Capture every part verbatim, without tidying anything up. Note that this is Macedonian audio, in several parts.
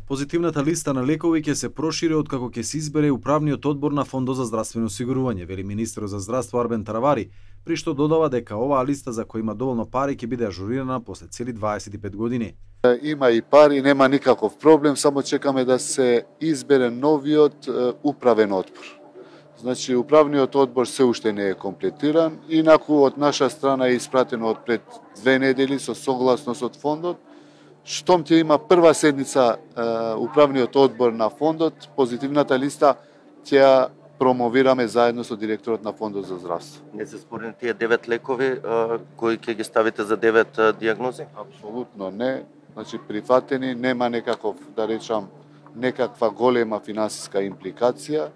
Позитивната листа на лекови ќе се прошири откако ќе се избере управниот одбор на Фондот за здравствено осигурување, вели министерот за здравство Арбен Таравари, при што додава дека оваа листа за која има доволно пари ќе биде ажурирана после цели дваесет и пет години. Има и пари, нема никаков проблем, само чекаме да се избере новиот управен одбор. Значи, управниот одбор се уште не е комплетиран, инаку од наша страна е испратено од пред две недели со согласност од фондот. Штом ќе има прва седница управниот одбор на фондот, позитивната листа ќе ја промовираме заедно со директорот на Фондот за здравство. Не се спорни тие девет лекови кои ќе ги ставите за девет дијагнози? Апсолутно не. Значи, прифатени, нема некаков, да речам, некаква голема финансиска импликација.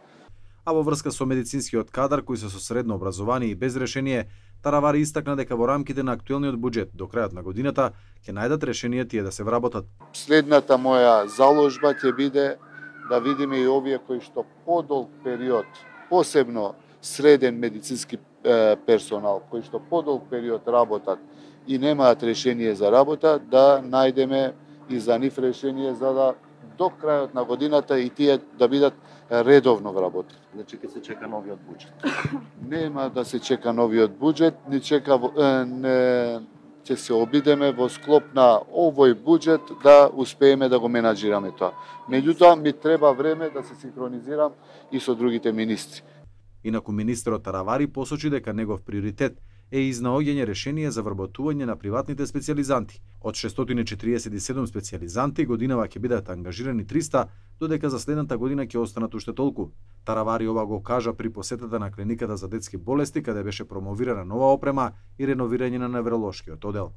А во врска со медицинскиот кадар кои се со средно образование и без решение, Таравари истакна дека во рамките на актуелниот буџет до крајот на годината ќе најдат решение тие да се вработат. Следната моја заложба ќе биде да видиме и овие кои што подолг период, посебно среден медицински персонал, кои што подолг период работат и немаат решение за работа, да најдеме и за нив решение за да до крајот на годината и тие да бидат редовно вработени. Значи ќе се чека новиот буџет. Нема да се чека новиот буџет, ни чека не ќе се обидеме во склоп на овој буџет да успееме да го менаџираме тоа. Меѓутоа ми треба време да се синхронизирам и со другите министри. Инаку министерот Таравари посочи дека негов приоритет е изнаоѓање решение за вработување на приватните специјализанти. Од шестстотини и четириесет и седум специјализанти годинава ќе бидат ангажирани триста, додека за следната година ќе останат уште толку. Таравари ова го кажа при посетата на клиниката за детски болести, каде беше промовирана нова опрема и реновирање на невролошкиот одел.